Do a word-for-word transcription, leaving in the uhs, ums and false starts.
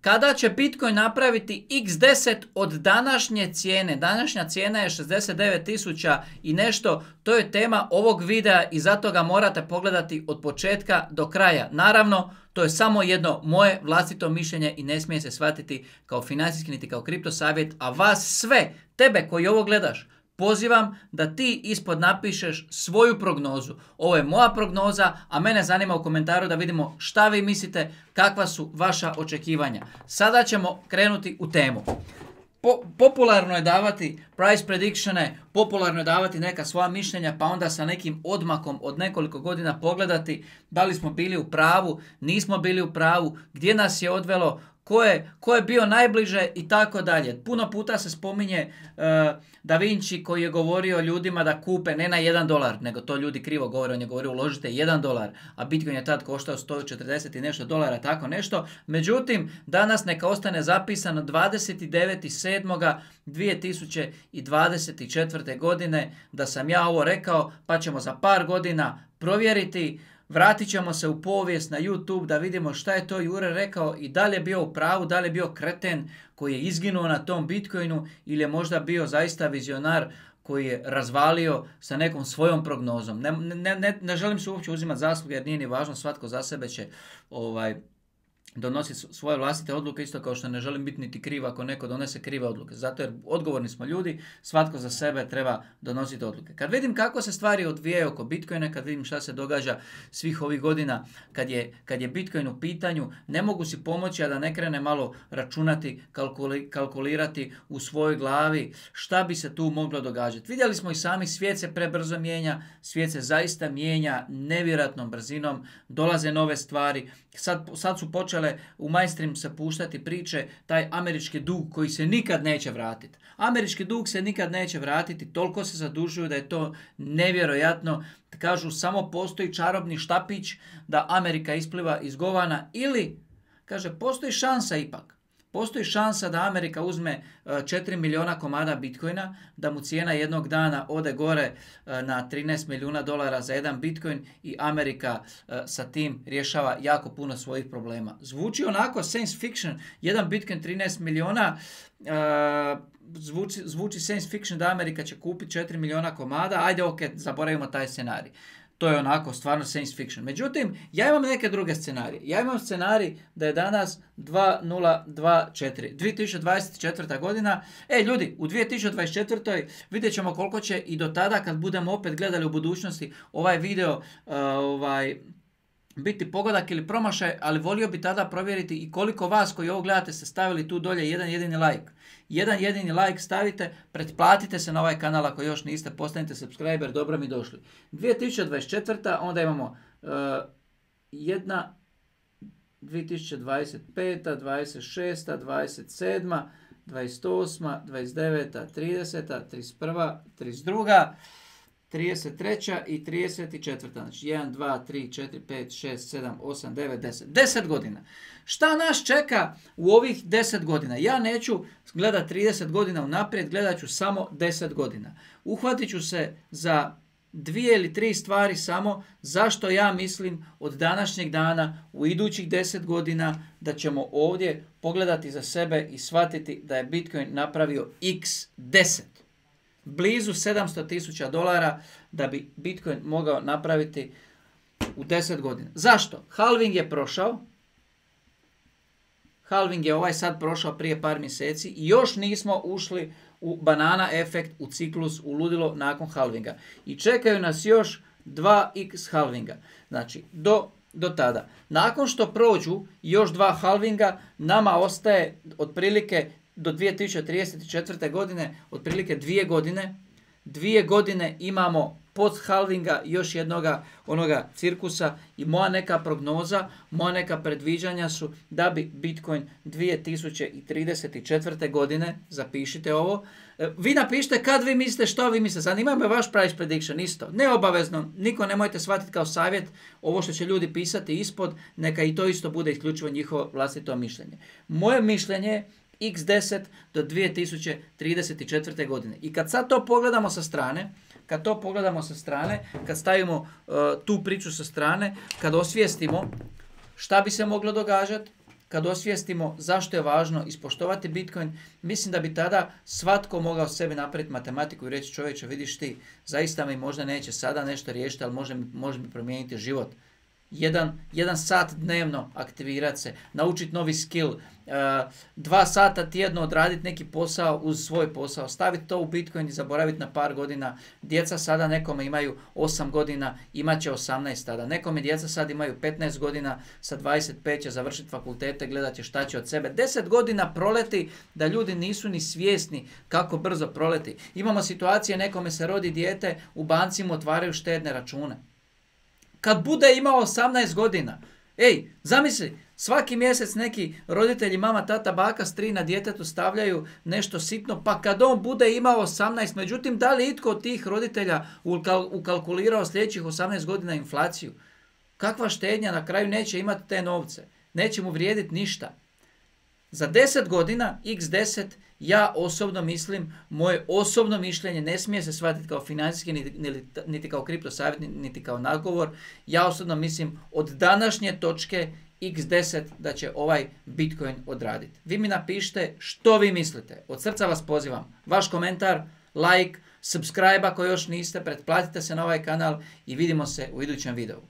Kada će Bitcoin napraviti iks deset od današnje cijene? Današnja cijena je šezdeset devet tisuća i nešto. To je tema ovog videa i zato ga morate pogledati od početka do kraja. Naravno, to je samo jedno moje vlastito mišljenje i ne smije se shvatiti kao financijski niti kao kripto savjet, a vas sve, tebe koji ovo gledaš, pozivam da ti ispod napišeš svoju prognozu. Ovo je moja prognoza, a mene zanima u komentaru da vidimo šta vi mislite, kakva su vaša očekivanja. Sada ćemo krenuti u temu. Po, popularno je davati price predictione, popularno je davati neka svoja mišljenja, pa onda sa nekim odmakom od nekoliko godina pogledati da li smo bili u pravu, nismo bili u pravu, gdje nas je odvelo, ko je, ko je bio najbliže i tako dalje. Puno puta se spominje uh, Da Vinci koji je govorio ljudima da kupe ne na jedan dolar, nego to ljudi krivo govore, on je govorio uložite jedan dolar, a Bitcoin je tad koštao sto četrdeset i nešto dolara, tako nešto. Međutim, danas neka ostane zapisano dvadeset devetog sedmog dvije tisuće dvadeset četvrte. godine da sam ja ovo rekao, pa ćemo za par godina provjeriti. Vratit ćemo se u povijest na YouTube da vidimo šta je to Jure rekao i da li je bio u pravu, da li je bio kreten koji je izginuo na tom Bitcoinu ili je možda bio zaista vizionar koji je razvalio sa nekom svojom prognozom. Ne, ne, ne, ne želim se uopće uzimati zasluge jer nije ni važno, svatko za sebe će ovaj, donositi svoje vlastite odluke, isto kao što ne želim biti niti kriv ako neko donese krive odluke. Zato jer odgovorni smo ljudi, svatko za sebe treba donositi odluke. Kad vidim kako se stvari odvijaju oko Bitcoina, kad vidim šta se događa svih ovih godina, kad je, kad je Bitcoin u pitanju, ne mogu si pomoći a da ne krene malo računati, kalkuli, kalkulirati u svojoj glavi šta bi se tu moglo događati. Vidjeli smo i sami, svijet se prebrzo mijenja, svijet se zaista mijenja nevjerojatnom brzinom, dolaze nove stvari. Sad, sad su počele u mainstream se puštati priče, taj američki dug koji se nikad neće vratiti. Američki dug se nikad neće vratiti, toliko se zadužuju da je to nevjerojatno. Kažu samo postoji čarobni štapić da Amerika ispliva iz govana ili, kaže, postoji šansa ipak. Postoji šansa da Amerika uzme četiri milijuna komada Bitcoina, da mu cijena jednog dana ode gore na trinaest milijuna dolara za jedan Bitcoin i Amerika sa tim rješava jako puno svojih problema. Zvuči onako science fiction, jedan Bitcoin trinaest milijuna, zvuči, zvuči science fiction da Amerika će kupiti četiri milijuna komada, ajde ok, zaboravimo taj scenarij. To je onako stvarno science fiction. Međutim, ja imam neke druge scenarije. Ja imam scenarij da je danas dva nula dva četiri. dvije tisuće dvadeset četvrta. godina. E, ljudi, u dvije tisuće dvadeset četvrtoj vidjet ćemo koliko će i do tada, kad budemo opet gledali u budućnosti ovaj video, uh, ovaj... biti pogodak ili promašaj, ali volio bi tada provjeriti i koliko vas koji ovo gledate ste stavili tu dolje jedan jedini like. Jedan jedini like stavite, pretplatite se na ovaj kanal ako još niste, postanite subscriber, dobro mi došli. dvije tisuće dvadeset četvrta. onda imamo uh, jedna, dvije tisuće dvadeset peta, dvadeset šesta, dvadeset sedma, dvadeset osma, dvadeset deveta, trideseta, trideset prva, trideset druga, trideset treća i trideset četvrta. Znači jedan, dva, tri, četiri, pet, šest, sedam, osam, devet, deset. deset godina. Šta nas čeka u ovih deset godina? Ja neću gledati trideset godina unaprijed, gledat ću samo deset godina. Uhvatit ću se za dvije ili tri stvari samo zašto ja mislim od današnjeg dana u idućih deset godina da ćemo ovdje pogledati za sebe i shvatiti da je Bitcoin napravio iks deset. Blizu sedamsto tisuća dolara da bi Bitcoin mogao napraviti u deset godina. Zašto? Halving je prošao. Halving je ovaj sad prošao prije par mjeseci i još nismo ušli u banana efekt, u ciklus, u ludilo nakon halvinga. I čekaju nas još dva iks halvinga. Znači, do, do tada. Nakon što prođu još dva halvinga, nama ostaje otprilike do dvije tisuće trideset četvrte. godine, otprilike dvije godine. Dvije godine imamo post halvinga još jednoga onoga cirkusa i moja neka prognoza, moja neka predviđanja su da bi Bitcoin dvije tisuće trideset četvrte. godine, zapišite ovo, vi napišite kad vi mislite, što vi mislite, zanima me vaš price prediction isto, neobavezno, niko nemojte shvatiti kao savjet, ovo što će ljudi pisati ispod, neka i to isto bude isključivo njihovo vlastito mišljenje. Moje mišljenje je iks deset do dvije tisuće trideset četvrte. godine. I kad sad to pogledamo sa strane, kad to pogledamo sa strane, kad stavimo uh, tu priču sa strane, kad osvijestimo šta bi se moglo događati, kad osvijestimo zašto je važno ispoštovati Bitcoin, mislim da bi tada svatko mogao sebi napraviti matematiku i reći čovječe, vidiš ti, zaista mi možda neće sada nešto riješiti, ali može, može mi promijeniti život. Jedan, jedan sat dnevno aktivirati se, naučiti novi skill, uh, dva sata tjedno odraditi neki posao uz svoj posao, staviti to u Bitcoin i zaboraviti na par godina. Djeca sada nekome imaju osam godina, imat će osamnaest tada. Nekome djeca sad imaju petnaest godina, sa dvadeset pet će završiti fakultete, gledat će šta će od sebe. deset godina proleti da ljudi nisu ni svjesni kako brzo proleti. Imamo situacije, nekome se rodi dijete, u banci mu otvaraju štedne račune. Kad bude imao osamnaest godina, ej, zamisli, svaki mjesec neki roditelji, mama, tata, baka, strina djetetu stavljaju nešto sitno, pa kad on bude imao osamnaest, međutim, da li itko od tih roditelja ukalkulirao sljedećih osamnaest godina inflaciju? Kakva štednja, na kraju neće imati te novce, neće mu vrijediti ništa. Za deset godina, iks deset, ja osobno mislim, moje osobno mišljenje ne smije se shvatiti kao financijski, niti, niti kao kripto savjet, niti kao nagovor. Ja osobno mislim od današnje točke iks deset da će ovaj Bitcoin odraditi. Vi mi napišite što vi mislite. Od srca vas pozivam. Vaš komentar, like, subscribe ako još niste, pretplatite se na ovaj kanal i vidimo se u idućem videu.